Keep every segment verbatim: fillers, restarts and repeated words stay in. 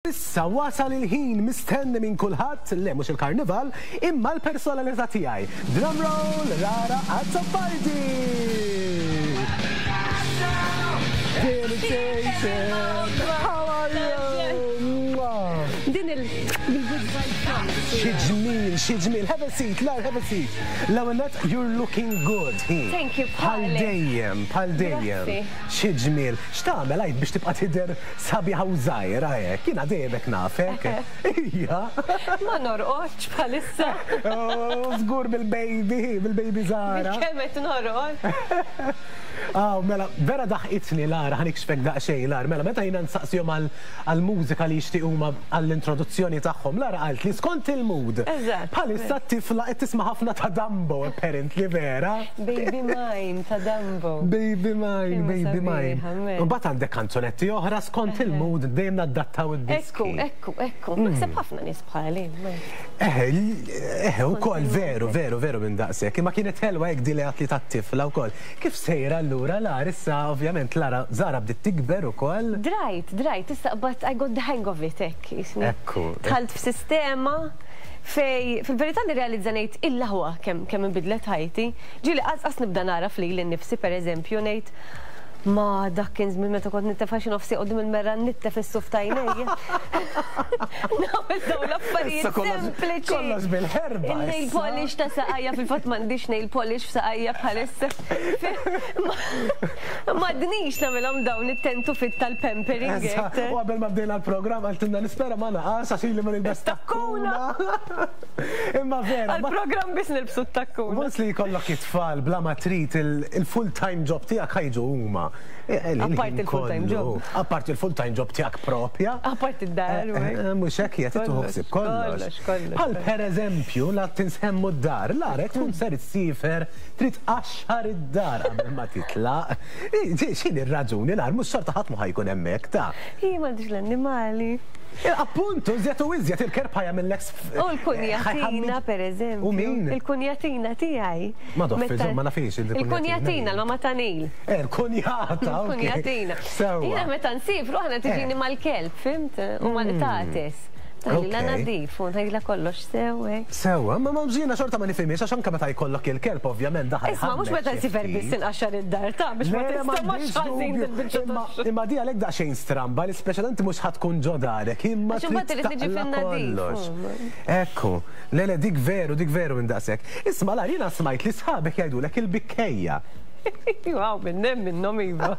Issa wasal il-ħin mistenni minn kulħadd, le mhux il-karnival, imma l-personalità tiegħi. Drum roll, Lara Azzopardi! How are you? Din il-good vibes. Xi ġmiel, xi ġmiel. Have a seat, Lara, have a seat. L-ewwel nett, you're looking good. Thank you, Bħal bħalek. dejjem, bħal dejjem. Grazzi. Xi ġmiel. X'tagħmel għid biex tibqa' tidher sabiħa u żgħira hekk? Jiena dejjem hekk nafek. Ija. Ma norqodx bħalissa. Oh, żgur bil-baby, bil-baby Zara. Kemm qed norqod. Ah, mela, vera daħqitni Lara, ħa nikxfek daqsxejn Lara. Mela, meta jiena nsaqsihom għal-mużika li jixtiequ huma għall-introduzzjoni tagħhom, Lara qalt li skont il-mood. Eżatt. Bħalissa t-tifla qed tisma' ħafna ta' Dumbo, apparently vera. Baby Mine ta' Dumbo. Baby mine, Kemm baby mine. sabiħa, mela. Mbagħad għandek kanzunetti oħra skont il-mood dejjem nadattaw id-diski. Ekku, ekku, ekku. Naħseb ħafna nies bħali. ma- Eħe, eħe, ukoll veru, veru, veru minn daqshekk. Imma kienet ħelwa hekk di li għatli tat-tifla wkoll. Kif sejra allura Lara issa ovvjament Lara Zara bdiet tikber ukoll. Drajt, drajt, issa but I got the hang of it, hekk. jisni. Ekku. Dħalt f'sistema fej, fil-verità nirrealizza ngħid illa kemm kemm inbidlet ħajti. Ġieli qas nibda nara f'lili nnifsi pereżempju ngħid ma dak kien żmien meta kont nittefa' xi nofsi quddiem il-mera nittef is-suf t'għajnejja. Nagħmel dawn l-affarijiet Issa kollox- sempliċi. kollox bil-ħerba Il-nail issa. polish ta' saqajja fil-fatt m'għandix nail polish f'saqajja bħalissa. M'għadnix nagħmilhom dawn it-tentu fit tal-pampering. Eżatt, U qabel ma bdejna l-programm għaltinna nispera ma naqas għax ili ma nilbes takkuna. Imma vera, ma- Għal-programm biss nilbsu t-takkuna. Once li jkollok it-tfal bla ma trid il-full time job tiegħek ħa jiġu huma. Apart il-full-time job. Apart il-full-time job tiegħek propja. Apart id-dar. Mhux hekk qed tieħu ħsieb kollox. Kollox, kollox. Bħal per eżempju, la tinsemmu d-dar, Lara tkun ser issiefer trid tqaxxar id-dar qabel ma titlaq. X'inhi r-raġuni Lar mhux xorta ħadd ma ħa jkun hemmhekk ta' Hi m'għandix l-annimali. Appuntu, iżjed u iżjed il-kelb ħa jagħmillek U l-kunjatina, per eżempju. U min? Il-kunjatina tiegħi. Ma doffi, Meta- ma nafix il-kunjatina. Il-kunjatina, l-mama ta' Neil. Eh, il-kunjata, ok. Il-kunjatina. Sewwa. Jiena meta nsifru aħna tiġini Eh. mal-kelb, fhimt? U mal-qtates. Taħlila Ok. nadif, u nħajla kollox sew. Sewwa, ma ma ġina xorta ma nifhimiex għax anke meta jkollok il-kelb ovvjament daħal. Isma' mhux meta nsifer biss inqaxxar id-dar ta' biex ma tistamax ħażin il-biċċa Imma tax-xogħol. imma di għalek daqsxejn stramba li speċjalment mhux ħa tkun ġo darek, imma Għax imbagħad trid irid niġi taqla' fin-nadif, kollox. mm. Ekku, le le dik veru, dik veru minn daqshekk. Isma' Lar jiena smajt li sħabek jgħidulek il-bikkejja. Wow, minnem minnhom iva.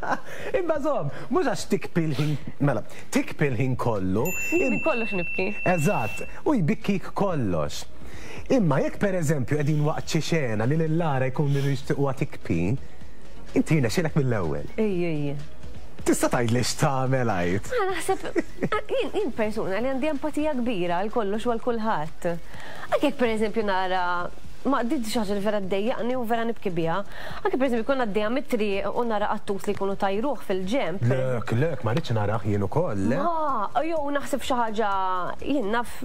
Imma żomm, mhux għax tikpi l-ħin, mela, tikpi l-ħin kollu. Jien minn kollox nibki. Eżatt, u jbikkik kollox. Imma jekk per eżempju qegħdin waqt xi xena li lil Lara jkun jixtiequha tikpi, inti jirnexxielek mill-ewwel. Ej, ej. Tista' tgħidli x'tagħmel għid. Ma naħseb, jien jien persuna li għandi empatija kbira għal kollox u għal kulħadd. Anke jekk pereżempju nara ma di xi ħaġa li vera ddejjaqni u vera nibki biha. Anke pereżempju jkun għaddejja mit-triq u nara qattus li jkunu tajruh fil-ġemp. Lek, lek, ma rridx narah jien ukoll. le? Ma, jew naħseb xi ħaġa jien naf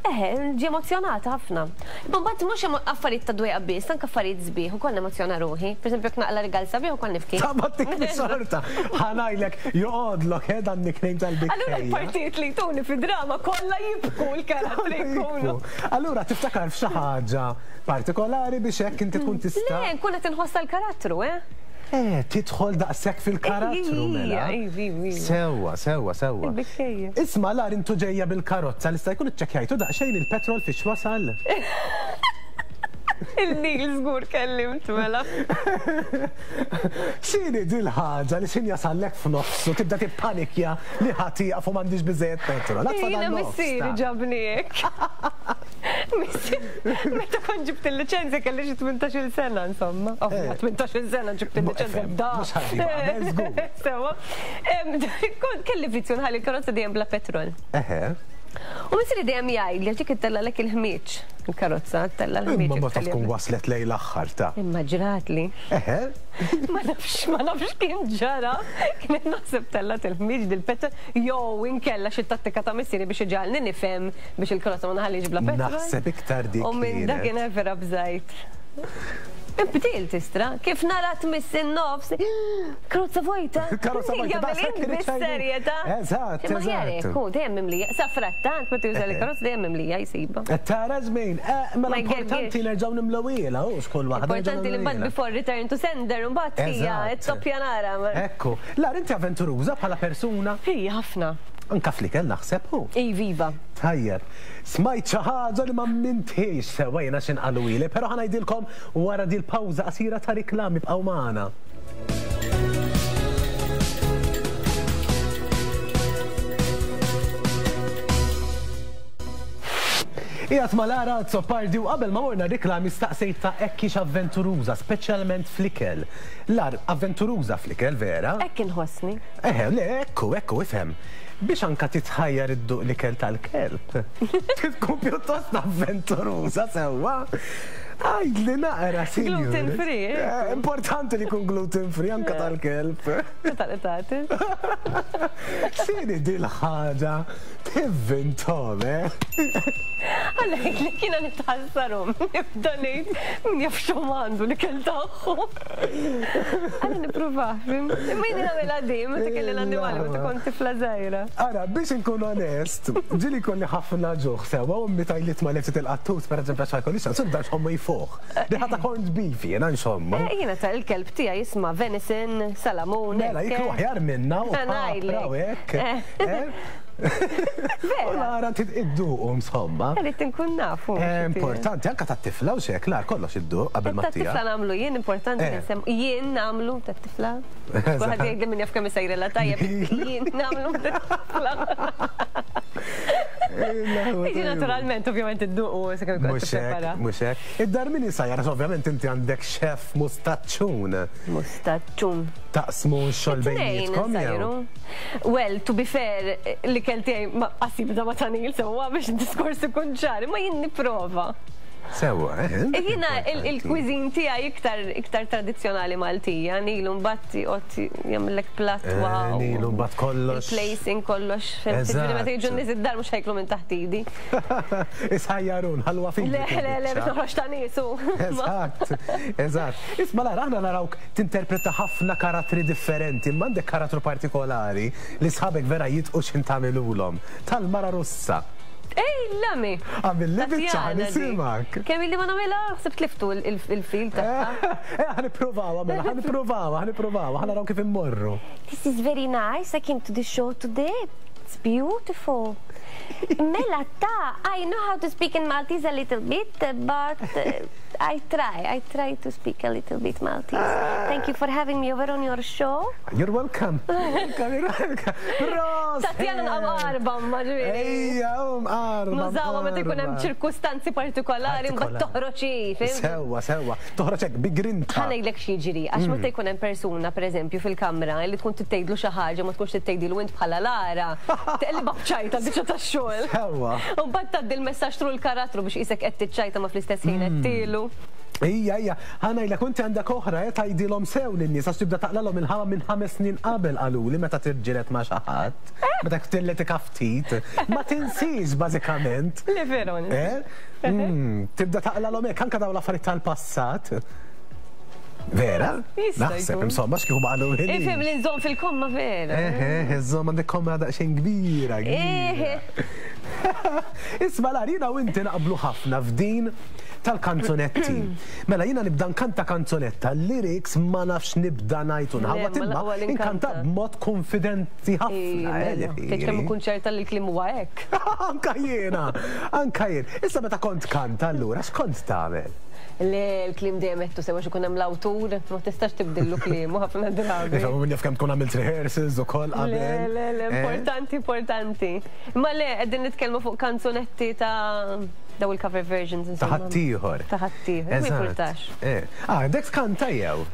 Eħe, ġi emozjonata ħafna. Imma mbagħad mhux emo- affarijiet ta' dwejqa biss, anke affarijiet sbieħ ukoll nemozzjona ruħi. Per eżempju, jekk naqla rigal sabiħ ukoll nibki. Ta' ma tikbi xorta. Ħa ngħidlek joqgħodlok eh dan nickname Allura tal-bikkejja. l-partijiet li jtuni fi drama kollha jibku l-karattri jkunu. Allura tiftakar f'xi ħaġa partikolari biex hekk inti tkun tista' Le, nkun qed inħossa l-karattru, eh? Eh, tidħol daqshekk fil-karattru mela. Iva, iva, iva. Sewwa, sewwa, sewwa. Il-bikkejja. Isma' Lar intu ġejja bil-karozza li sta jkun iċċekkjajtu daqsxejn il-petrol fiex wasal. Il-Neil żgur kellimt mela. X'inhi dil-ħaġa li xin jasallek f'nofsu tibda tippanikja li ħa tieqaf u m'għandix biżejjed petrol. Għad Jiena nofs, missieri ta' ġabni hekk. Missieri, meta kont ġibt il-liċenzja kelli xi tmintax-il sena insomma. Eh. tmintax-il sena ġibt il-liċenzja Efhem, da. mhux ħaġa qabel, żgur. Sewwa. Em, Kont kelli vizzju nħalli l-karozza dejjem bla petrol. Eħe. U missieri dejjem jgħid li ġik ittellgħalek il-ħmieġ. Il-karozza ttella' l-ħmieġ. Imma meta tkun waslet lejn l-aħħar ta' Imma ġratli. Eħe. Ma nafx, ma nafx kien ġara. Kien naħseb tellgħet il-ħmieġ dil-petrol. Jew inkella xi tattika ta' missieri biex iġagħalni nifhem biex il-karozza ma nħallix bla petrol. Naħseb iktar dik U minn kienet. dakinhar vera bżajt. Imbdilt istra, kif nara tmiss in-nofs, karozza vojta. Karozza vojta, daqshekk irid xejn. Bis-serjetà. Eżatt, Imma aħjar eżatt. hekk, hu dejjem mimlija. Sa frattant meta juża l-karozza dejjem mimlija jsibha. Tara żmien, eh, mela Ma importanti jgergirx. nerġgħu nimlewhielha, u xkull waħda. Importanti li mbagħad before return to sender, mbagħad hija Eżatt. it-toppja nara. Ekku, Lar, inti avventuruża bħala persuna, Hija ħafna. anka fl-ikel naħseb hu. Iviva. Tajjeb, smajt xi ħaġa li ma mintiex sewwa jiena x'in qaluli, però ħa ngħidilkom wara dil pawża qasira ta' riklami bqgħu magħna. Qiegħed ma' Lara Azzopardi u qabel ma morna riklami staqsejt ta' hekk avventuruża, speċjalment fl-ikel. Lar, avventuruża fl-ikel, vera? Hekk inħossni. Eħe, le, ekku, ekku, ifhem. Biex anka titħajjar idduq l-ikel tal-kelb. Tkun pjuttost avventuruża sewwa. Għajdli naqra, sinjur. Gluten free, eh? Eh, Importanti li jkun gluten free anka tal-kelb. Tal-etatil. X'inhi dil-ħaġa tivvintom, eh? Għalhekk li kiena nitħassarom, nibda ngħid min jaf x'hom għandu l-ikel tagħhom. Għalla nippruvah, imma jien nagħmilha dejjem meta kelli l-annimali meta kont tifla żgħira. Ara, biex inkun onest, ġieli kolli ħafna ġuħ sewa, u meta jlit ma leftit il-qattus, per eżempju, għax kolli xan, sibda xommu jfuħ. Riħa ta' corned beef, jena nxommu. Eh, Jiena ta' il-kelb tiegħi jisma' venison, salamun. Mela, hekk, jiklu eh. aħjar minna u Ngħidlek. papra u hekk. Eh. Eh? U Vera. Lara idduqu insomma. Irrid inkun nafu. Eh, Importanti, anka ta' tifla u xek, lar kollox idduq qabel ma Ta' tija. tifla nagħmlu jien, importanti Eh. li nsem jien nagħmlu ta' tifla. Kulħadd jgħid li min jaf kemm isejrela tajjeb, jien nagħmlu ta' tifla. Iġi naturalment, ovvjament idduqu sakemm ikun Mhux tipprepara. hekk, mhux hekk. Id-dar min isajjar, ovvjament inti għandek chef mustaċċun. Mustaċċun. Taqsmu x-xogħol Tnejn bejnietkom jew? insajru. Well, to be fair, l-ikel tiegħi ma qasib da ma tanil sewwa biex id-diskors ikun ċar, imma jien nipprova. Sewwa, eh? Jiena il-cuisine tiegħi iktar iktar tradizzjonali Maltija, nilu mbagħad joqgħod jagħmellek platt Eh, wow. Nilu mbagħad kollox. Il-placing kollox. Ġifieri meta jiġu Eżatt. nies id-dar mhux ħa jiklu minn taħt idi. Isħajjarun, ħalwa fidi. Le, le, le, biex noħroġ ta' niesu. Eżatt, eżatt. Isma Lara, aħna narawk tinterpreta ħafna karattri differenti, imma għandek karattru partikolari li sħabek vera jitqu x'in tagħmilulhom. Tal-mara Russa. Ej, lami. Għamilli biċċa Tatjana di. nisimak. Kemm illi ma nagħmilha, ħsibt tliftu il-fil tagħha. Eh, ħa nippruvaw, mela, ħa nippruvaw, ħa nippruvaw, ħa naraw kif immorru. This is very nice. I came to the show today. It's beautiful. Mela ta, I know how to speak in Maltese a little bit, but uh, I try. I try to speak a little bit Maltese. Thank you for having me over on your show. You're welcome. Welcome, you're welcome. Proset! Tatjana nqam arba, ma ġifieri. Ejja, um, arba. Nużawha meta jkun hemm ċirkustanzi partikolari mbagħad toħroġ hi, fhimt? Sewwa, sewwa. Toħroġ hekk bi grinta. Ħa ngħidlek x'jiġri, għax meta jkun hemm persuna pereżempju fil-kamra li tkun tgħidlu xi ħaġa ma tkunx tgħidlu int bħala Lara, teqlibha b'ċajta biċċa tax-xogħol. Sewwa. U mbagħad tgħaddi l-messaġġ through l-karattru biex qisek qed tiċċajta ma fl-istess ħin qed tielu. Ija, ija, ħa ngħidlek, inti għandek oħra, eh, tgħidilhom sew lin-nies għax tibda taqlalhom il-ħama minn ħames snin qabel qaluli meta tirġilet ma' xi ħadd, meta ktilletik ftit. Ma tinsix bażikament. Le veru. Eh? Mm, tibda taqlalhom hekk anke dawn l-affarijiet tal-passat. Vera? Jista' Naħseb, jkun. insomma, x'kieku ma qalu Ifhem li nżomm fil-komma vera. Eh, eh, iżomm għandek komma daqsxejn kbira, kbira. Eh, Isma Lar, jiena u inti naqblu ħafna f'din tal-kanzunetti. Mela jiena nibda nkanta kanzunetta, lyrics ma nafx nibda ngħid u nħawat Le, ma imma l-aqwa li inkanta nkanta. b'mod konfidenti ħafna. eh, Tgħid kemm ikun ċerta li l-kliem huwa hekk. Anka jiena, anka jien. Issa meta kont kanta allura, x'kont tagħmel? Le, l-kliem dejjem qed sewa ikun hemm l-awtur, ma tistax tibdillu kliemu ħafna drabi. Ifhem min jaf kemm tkun għamilt rehearsals ukoll Le, qabel. le, le, Eh? importanti, importanti. Ma le, qegħdin nitkellmu fuq kanzunetti ta' daw il-cover versions. Ta' insomma. ħaddieħor. Ta' ħaddieħor, ma Eżatt. jimpurtax. Eh. Ah, dek tkanta jew?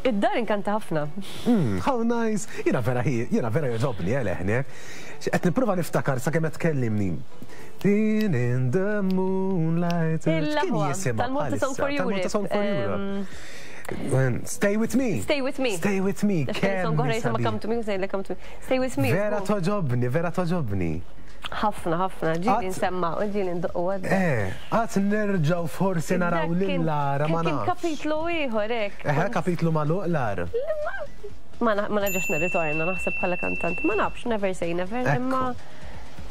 Id-dar inkanta ħafna. Mm, how nice. Jiena vera hi, jiena vera jogħġobni eh, leħnek. Qed nipprova niftakar sakemm qed tkellimni. Din in the moonlight. Kien Il-aħwa jisimha tal-Malta Song bħalissa? for Tal-Malta Europe. Song for Europe. Ehm, Stay with me. Stay with me. Stay with me. Għax kien song Kemm oħra jisimha sabiħ. Come to me, u sejla Come to me. Stay with me. Vera żgur. togħġobni, vera togħġobni. Ħafna, ħafna, ġieli nsemma u ġieli ndoqqu għadda. Eh, għad nerġgħu forsi naraw lil Lara ma nafx. Kien kapitlu ieħor hekk. Eh, kapitlu magħluq Lara. Ma nerġax nirritorna naħseb bħala kantant. Ma nafx, never say never, imma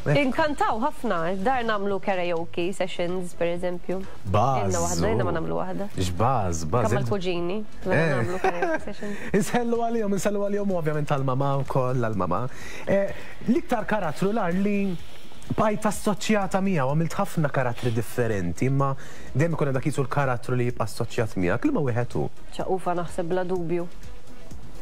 inkantaw ħafna, dar nagħmlu karaoke sessions per eżempju. Baż. Ilna waħda, ilna ma nagħmlu waħda. X'baż, baż. Kemm mal-kuġini, nagħmlu karaoke sessions. Insellu għalihom, insellu għalihom ovvjament għall-mamà wkoll għall-mamà. L-iktar karattru Lar li bqajt assoċjata miegħu, għamilt ħafna karattri differenti, imma dejjem ikun dak jisu l-karattru li jibqa' assoċjat miegħek, liema wieħed hu? Ċaqufa naħseb bla dubju.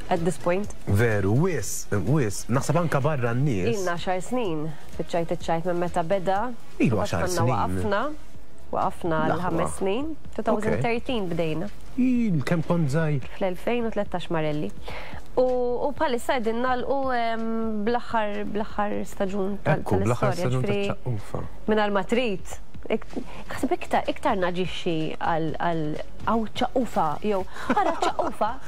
At this point. Veru, wis, wis, naħseb anka barra n-nies. Ilna għaxar snin, fiċ-ċajt iċ-ċajt minn meta beda. Ilu għaxar snin. Waqafna, waqafna l-ħames snin. elfejn u tlettax bdejna. Il, kemm kont żgħir. Fl-elfejn u tlettax Marelli. U bħalissa qegħdin nagħlqu bl-aħħar bl-aħħar staġun tal-istorja. Mingħajr ma trid. Naħseb iktar iktar naġixxi għal għaw ċaqufa jew ara ċaqufa.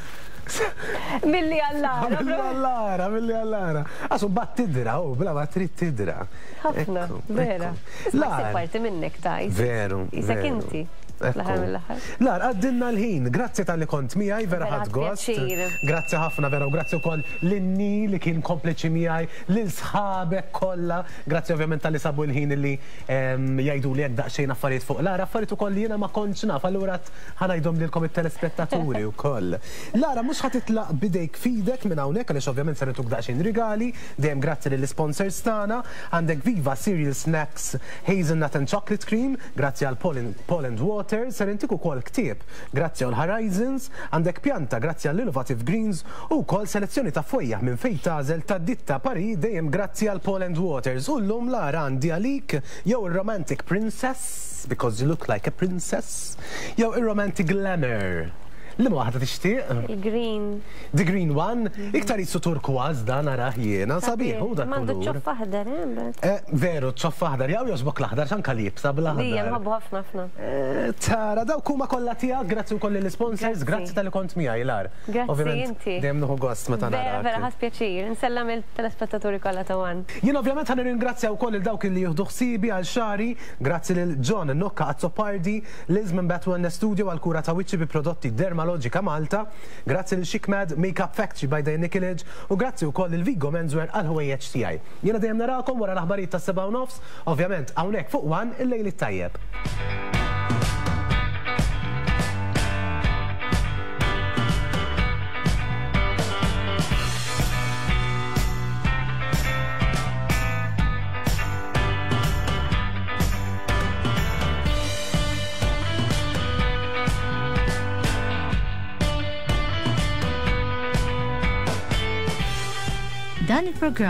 Milli għallara. Milli għallara, milli għallara. Għasu bat tidra, u bla ma trid tidra. Ħafna, vera. La, parti minnek ta' Veru. Isek inti. Lar, għaddinna l-ħin, grazzi tal-li kont miegħi, vera ħadt gost. Grazzi ħafna vera, u grazzi wkoll lin-ni li kien kompliċi miegħi, lil sħabek kollha. Grazzi ovvjament tal-li sabu l-ħin li jgħidu li hekk daqsxejn affarijiet fuq Lara, affarijiet ukoll li jiena ma kontx naf, allura ħanajdhom lilkom it-telespettaturi wkoll. Lara, mhux ħa titlaq bidejk fidek minn hawnhekk għaliex ovvjament se nagħtuk daqsxejn rigali, dejjem grazzi lill-sponsors tagħna, għandek Viva Cereal Snacks Hazelnut and Chocolate Cream, grazzi għal Paul and Water. Ser intik ukoll ktieb grazzi għal Horizons, għandek pjanta grazzi għall Innovative Greens u wkoll selezzjoni ta' fojjaħ minn fejn tagħżel ta' ditta Paris dejjem grazzi għal Paul and Waters. U llum Lara għandi għalik jew ir-Romantic Princess because you look like a princess, jew ir-Romantic Glamour. Liema waħda tixtieq? Il-green. The green one? Iktar jisu turkważ dan narah jiena, sabiħ u dak M'għandu ċoff aħdar, eh? Veru, ċoff aħdar, jew jogħġbok l-aħdar x'anka liebsa bl-aħdar. Dija nħobbu ħafna ħafna. Tara, dawk huma kollha tiegħek, grazzi wkoll lill-sponsors, grazzi tal-li kont miegħi Lar. Grazzi inti. Dejjem nieħu gost meta narak. Vera, vera ħadt pjaċir. Insellem il-telespettaturi kollha ta' One. Jien ovvjament ħa nirringrazzja wkoll il dawk li jieħdu ħsiebi għal xari, grazzi lil John Nokka Azzopardi, Liz minn Batman Studio għal kura ta' wiċċi bi prodotti Dermalogica Malta, grazzi lil Chic Mad Makeup Factory by Diane Nikolic u grazzi wkoll lil Vigo Menswear għal ħwejjeġ tiegħi. Jiena dejjem narakom wara l-aħbarijiet tas-sebgħa u nofs, ovvjament hawnhekk fuq One il-lejl it-tajjeb. Dan il-programm